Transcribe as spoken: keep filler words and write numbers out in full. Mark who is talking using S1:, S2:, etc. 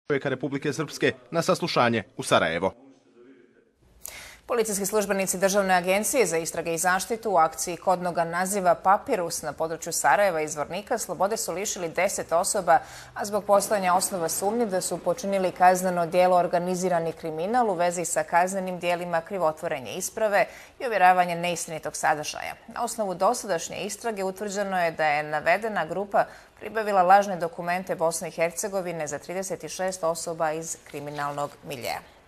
S1: čovjeka Republike Srpske na saslušanje u Sarajevo.
S2: Policijski službenici Državne agencije za istrage i zaštitu u akciji kodnoga naziva Papirus na području Sarajeva i Zvornika slobode su lišili deset osoba, a zbog postojanja osnova sumnje da su počinili kazneno djelo organizirani kriminal u vezi sa kaznenim djelima krivotvorenja isprave i ovjeravanje neistinitog sadržaja. Na osnovu dosadašnje istrage utvrđeno je da je navedena grupa pribavila lažne dokumente Bosne i Hercegovine za trideset šest osoba iz kriminalnog miljea.